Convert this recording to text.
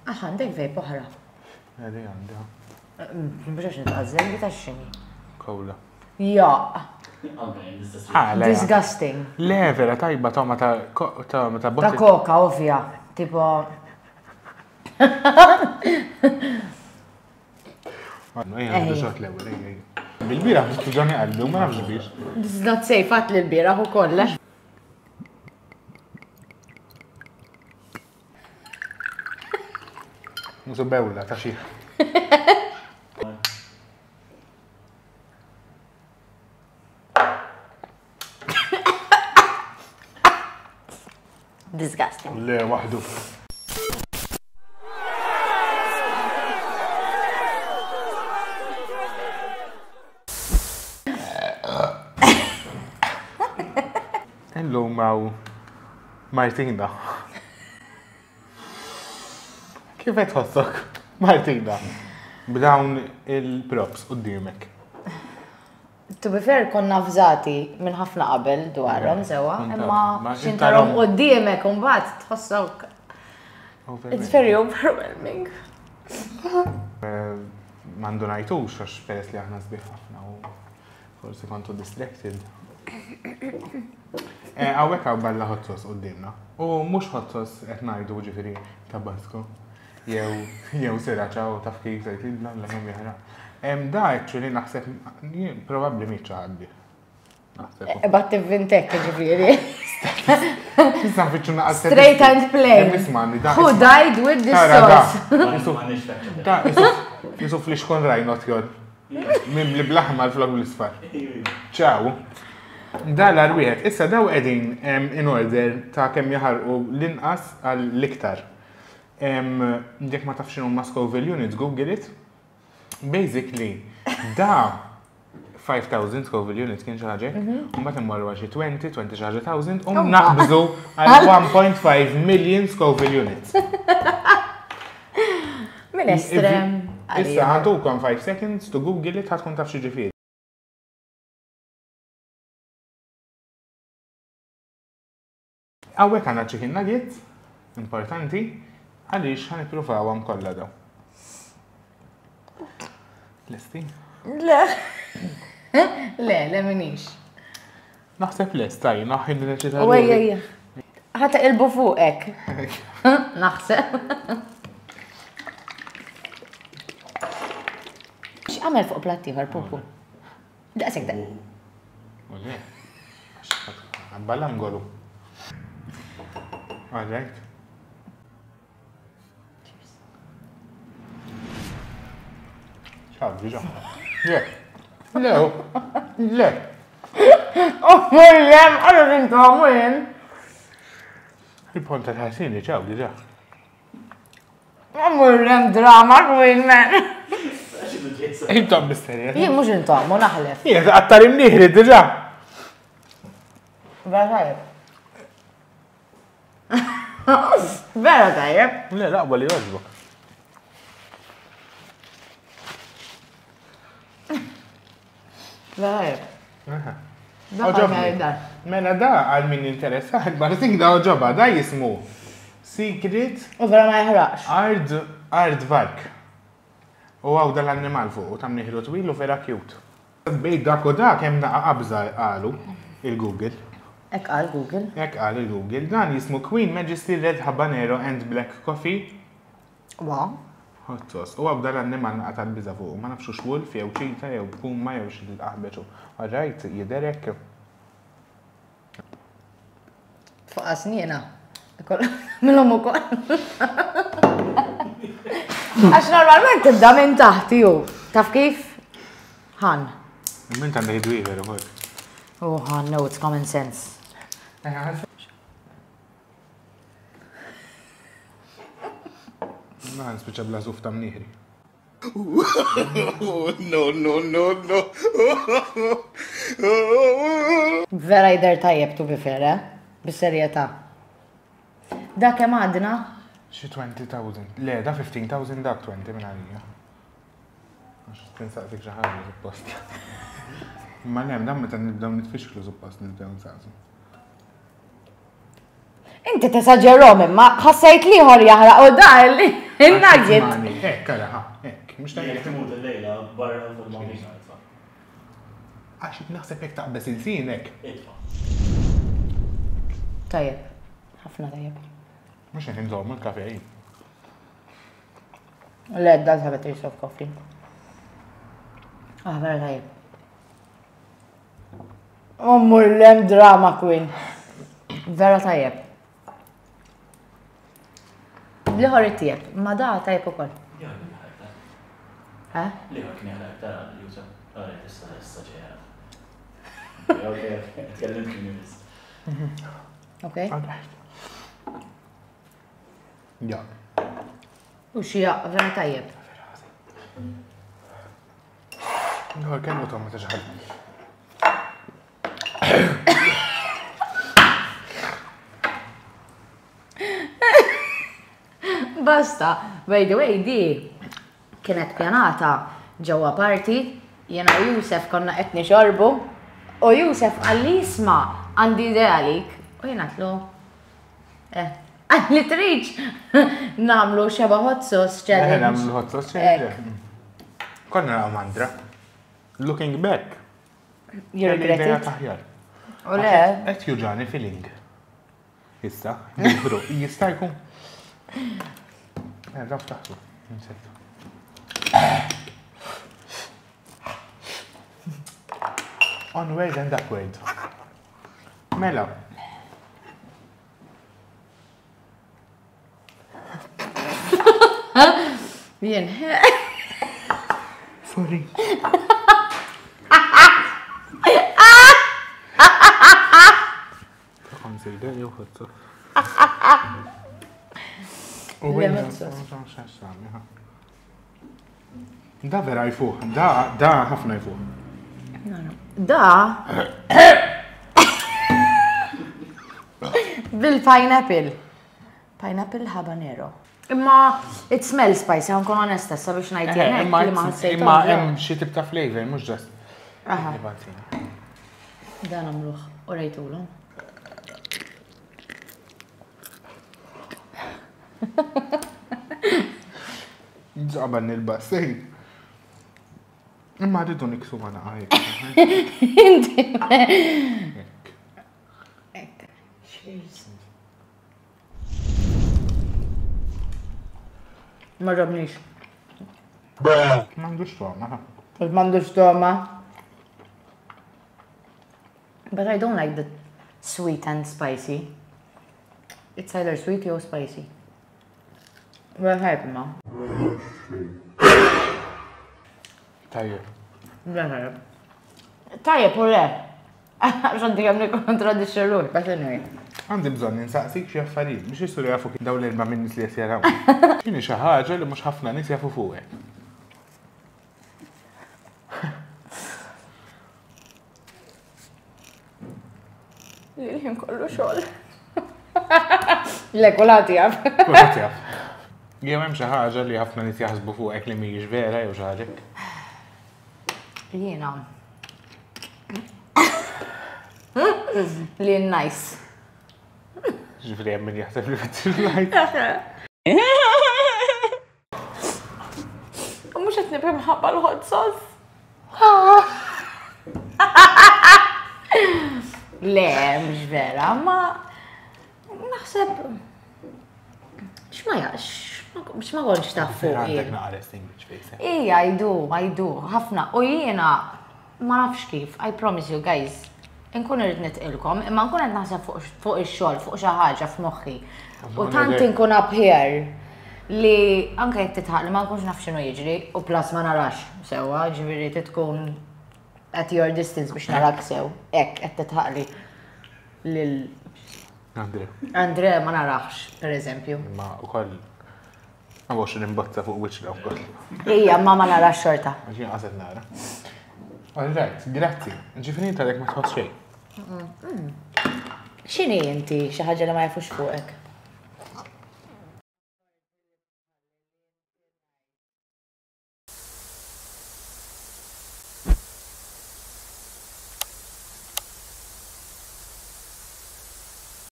Ah, għandek vape oħra. Għedi għandi. Mhux għax nitqażżel, li ta' x'inhi. Kowla. Ja. Ah, le. Disgusting. Le, vera tajba toma ta' ta' ta' Ta' koka, ovvja. Tipo. Ejja, għandu xot l-ewwel, ejja. Bil-bieraħ biex tuġani qalbi u ma nafx biex. This is not safe, għat li l-bieraħ u koll. Eh? Musu bewla ta' xi. Disgusting. Le, waħdu. Illum għaw Martina. Kif qed tħossok, Martina, b'dawn il-props qudiemek? To be fair, konna avżati minn ħafna qabel dwarhom sewwa, imma xintarhom quddiemek u mbagħad tħossok. It's very overwhelming. Eh, Mandu najtux għax peress li aħna sbieħ ħafna u forsi kontu distracted. Eh, hawnhekk hawn balla hot sauce quddiemna. U mhux hot sauce qed ngħidu ġifieri tabasco. Jew jew sriracha u taf kif se jtidla l kemm jaħraq. Da actually naħseb probabbli mhix xi ħadd bih. Naħseb. Bat tivvintek ġifieri. Issa nfittxu naqas. Straight and plain. Isma' da. Who died with this sauce? Da, jisu flixkon rajnot jod. Mimli bl-aħmar flok bl-isfar. Ciao. Da l-arwieħed. Issa daw qegħdin in order ta' kemm jaħarqu l-inqas għall-iktar. Jekk ma tafx x'inhuma Scoville units, Google it. Basically, da 5,000 Scoville units kien xi ħaġa, mhm. u mbagħad immorru għal xi 20, 20 xi ħaġa thousand, u naqbżu għal 1.5 million Scoville units. Min estrem. Issa ħantukom 5 seconds to Google it ħatkun taf xi ġifieri. Hawnhekk għandna chicken nuggets, importanti, għaliex ħa nippruvawhom kollha daw. Lesti? Le. Le, le minix. Naħseb lest, taj, naħin neċita. Ejja, ejja. Ħa ilbu fuqek. Naħseb. X'għamel fuq platt ieħor, pupu? Daqshekk da. U le. Ballangolu. All right. Ciao, diġa. Le. Le. Le. Oh, lem, għallu rintom, jen. Il-ponta ta' ċaw, diġa. Murrem drama queen man. Intom misterja. Jien mhux intom, u naħlef. Jien qattar imnieħri diġà. Vera tajjeb. Vera tajjeb. Le, laqwa li jogħġbok. Vera Oġobni. Mela da għal min jinteressa, Martin da oġoba, da jismu Secret. U vera ma jħraqx. Ard, Ard Vark. U għaw dal-annimal fuq, u tam nieħdu twil u vera cute. Bej dak u dak hemm naqa qabża qalu il-Google. Hekk qal Google. Hekk qal il-Google. Dan jismu Queen Majesty Red Habanero and Black Coffee. Wow. Hot sauce. U għaw dal-annimal naqa tal-biża fuq. Ma nafx hux wolf jew cheetah jew puma jew xi aħbeċ. Alright, jidher hekk. Fuq snina. Milhom ukoll. Għax normalment tibda minn taħt ju. Taf kif? Han. Minn ta' ngħidu ieħor ukoll. Oh, Han, no, it's common sense. Ma nispiċċa bla żuf ta' mnieħri. No, no, no, no. Vera jidher tajjeb to be fair, eh? Bis-serjetà. Da kemm għadna? Xi 20,000. Le, da 15,000 dak 20 minn għalija. Għax tinsaqsik xi ħaġa suppost. Imma le, dan meta nibdew nitfixklu suppost nibdew nsaqsu. Inti tesaġerhom imma ħassejt liħor jaħraq u da li. Il-nugget. Hekk, ara, ha, hekk. Mhux ta' Jekk timut il-lejla barra fil-mobina. Għax naħseb jekk taqbeż ilsienek. Itfa. Tajjeb. Ħafna tajjeb. Mhux qed inżommu l-kafe. Le, it does have a taste of coffee. Ah, vera tajjeb. Ommur lem drama queen. Vera tajjeb. Liħor it-tieb, ma da tajjeb ukoll. Eh? Liħor kien jaħdem aktar għal Jusa. Għara, issa, issa ġeja. Ok, tkellimt kien biss. Ok. Ja. U xija, vera tajjeb. Nħor kemm u tomma ta' xaħal. Basta, by the way, di kienet pjanata ġewwa party, jiena u Jusef konna qed nixorbu, u Jusef qalli isma' għandi idea għalik, u jiena għedtlu, eh, qalli tridx nagħmlu xeba hot sauce challenge. Eh, nagħmlu hot sauce challenge. Konna nagħmlu mandra. Looking back. You regret it? Aħjar. U le? Qed juġani feeling. Issa, bro, jista' jkun. Eh, raf taħtu, insejtu. Onward and upward. Mela. Jien. Sorry. Consider jew ħottu. U Da vera jfuħ, da da ħafna jfuħ. Da bil-pineapple. Pineapple habanero. Imma it smells spicy, għan kun onesta, sabiex ngħid eh, jien li ma ħassejt. Imma hemm xi tip ta' flavor, mhux just. Dan għamluh u rejtulhom. Ġaban il-bassej. Imma rridu niksu ma naqaj. Inti. Cheers. Ma ġobnix. M'għandux toma. M'għandux toma. But I don't like the sweet and spicy. It's either sweet or spicy. Vera tajjeb imma. Tajjeb. Vera tajjeb. Tajjeb u le. Għax għandi kemm nikkontradixxi ruħi, but anyway. Għandi bżonn insaqsik xi affarijiet biex isiru jafu dawn l-erba' minn nies li qed jaraw. X'inhi xi ħaġa li mhux ħafna nies jafu fuqek? Li l-ħin kollu xogħol. Le, kulħadd jaf. Kulħadd jaf. Jew hemm xi ħaġa li ħafna nies jaħsbu fuqek li mhijiex vera jew xi ħaġa hekk. Jiena. Li nice. Ġifieri hemm min jaħseb li fitxi like. U mhux qed nibhem ħabba l-hot sauce. Le, mhux vera, ma naħseb x'ma jax, x'ma kontx taf fuq. Għandek naqra resting bitch face. Eh? Ija, I do, I do, ħafna. U jiena ma nafx kif, I promise you guys, inkun irrid nitqilkom, imma nkun qed naħseb fuq ix-xogħol, fuq xi ħaġa f'moħħi. U tant inkun up here li anke jekk titħaq li ma nkunx naf x'inhu jiġri u plus ma narax sewwa, ġifieri tkun at your distance biex narak sew, hekk qed titħaqli lil Andre. Andre ma narax, per eżempju. Ma ukoll ma bawx nimbozza fuq wiċċna wkoll. Ija, ma ma narax xorta. Ġi qaset nara. All right, grazzi. Ġifieri inta ma tħoss xejn. X'inhi inti xi ħaġa li ma jafux fuqek?